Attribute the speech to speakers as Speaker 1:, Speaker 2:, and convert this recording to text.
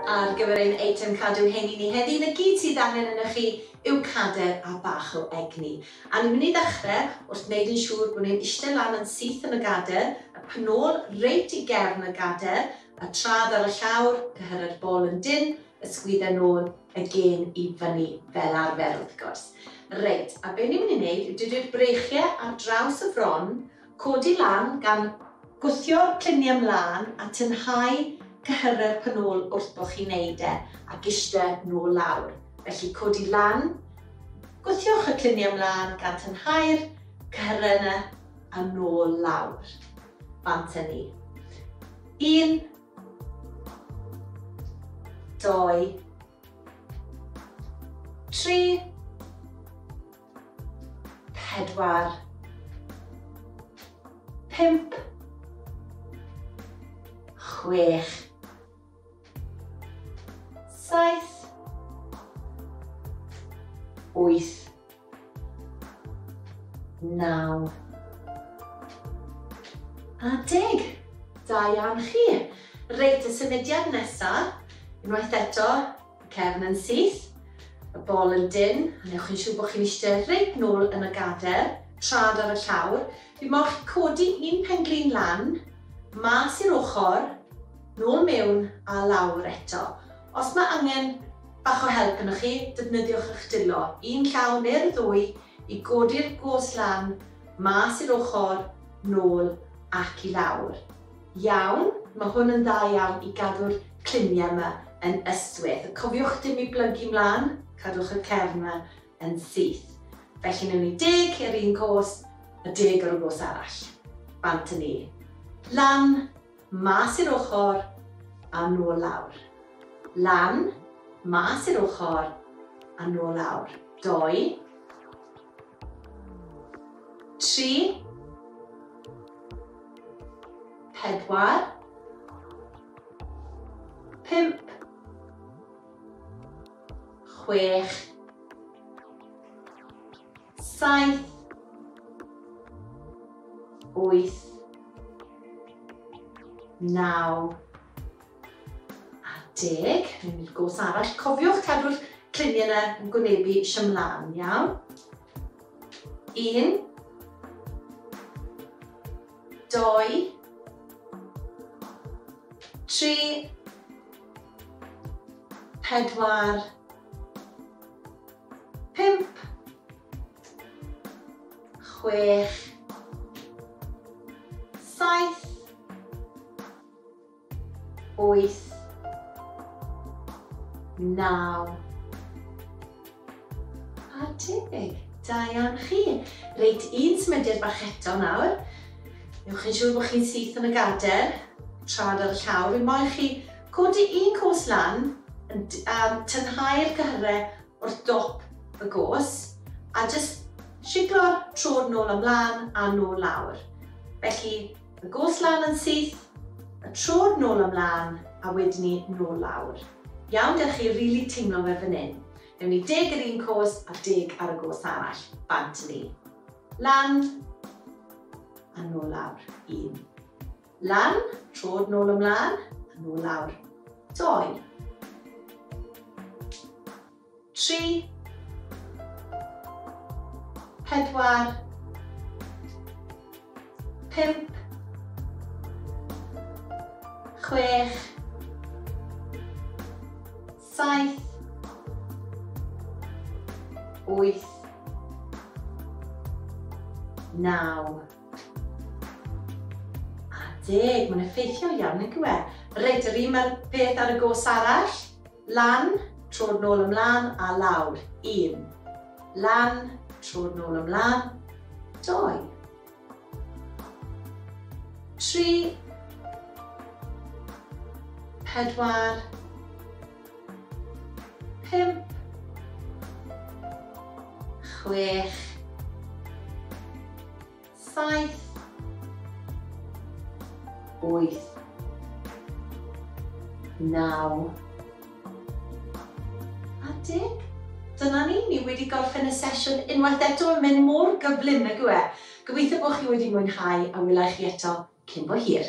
Speaker 1: Ar gyfer ein eitem cadw heini ni heddi, 'na gyd sydd angen arnoch chi yw cader a bach o egni. A ni'n mynd i ddechrau wrth wneud yn siŵr bod ni'n eistedd lan yn syth yn y gader, y penôl reit i gefn y gader, y traed ar y llawr, cyhyrau'r bol yn dynn, y sgwyddau nôl, y gên i fyny fel arfer wrth gwrs. Reit, a be ni'n mynd i wneud yw dydy'r breichiau ar draws y fron, codi lan gan gwthio'r cluniau mlaen a tynhau cyhyrau'r penôl wrth bod chi'n neud e ac iste nôl lawr. Felly codi lan, gwthiwch y cluniau mlaen gan tynhau'r cyhyrau yna a nôl lawr. Bant â ni. 1, 2, 3, 4, 5, 6, 7, 8, 9 a 10. Da iawn chi. Reit, y symudiad nesa, unwaith eto, y cefn yn syth, y bol yn dynn, a newch chi'n siŵr bod chi'n eistedd reit nôl yn y gader, trad ar y llawr. Fi moch codi un penglin lan, mas i'r ochr, nôl mewn a lawr eto. Os mae angen bach o help arnoch chi, defnyddiwch eich dwylo, un llaw neu'r ddwy, i godi'r gos lan, mas i'r ochr, nôl ac i lawr. Iawn, mae hwn yn dda iawn i gadw'r cluniau yma yn ystwyth. Cofiwch dim i blygu mlaen, cadwch y cefn yma yn syth. Felly newn ni 10 ar un cos a 10 ar y gos arall. Bant â ni. Lan, mas i'r ochr a nôl lawr. Lan, mas i'r ochr a nôl lawr. 2, 3, 4, 5, 6, 7, 8, 9 a 10. Ni'n mynd i'r gos arall. Cofiwch cadw'r cluniau yna yn gwynebu eisiau mlaen, iawn? 1, 2, 3, 4, 5, 6, 7, 8, 9 a 10. Da iawn chi. Reit, un symudiad bach eto nawr. Newch chi'n siŵr bod chi'n syth yn y gader, trad ar y llawr. Fi moyn chi codi un cos lan, a tynhau'r cyhyrau wrth dop y gos, a jyst siglo'r trod nôl ymlaen a nôl lawr. Felly, y gos lan yn syth, y trod nôl ymlaen, a wedyn ni nôl lawr. Iawn, dewch chi rili teimlo fe fan hyn. Newn ni 10 ar un cos a 10 ar y gos arall. Bant ni. Lan, a nôl lawr. 1. Lan, trod nôl ymlaen, a nôl lawr. 2. 3. 4. 5. 6. 7. 8. 9. A 10. Mae'n effeithiol iawn, nag yw e? Reit, yr un mae'r peth ar y gos arall. Lan, trod nôl ymlaen a lawr. 1. Lan, trod nôl ymlaen. 2. 3. 4. 5. 6. 7. 8. 9. A 10. Dyna ni, ni wedi gorffen y sesiwn unwaith eto yn mynd mor gyflym, nag yw e? Gobeithio bod chi wedi mwynhau a wela i chi eto cyn bo hir.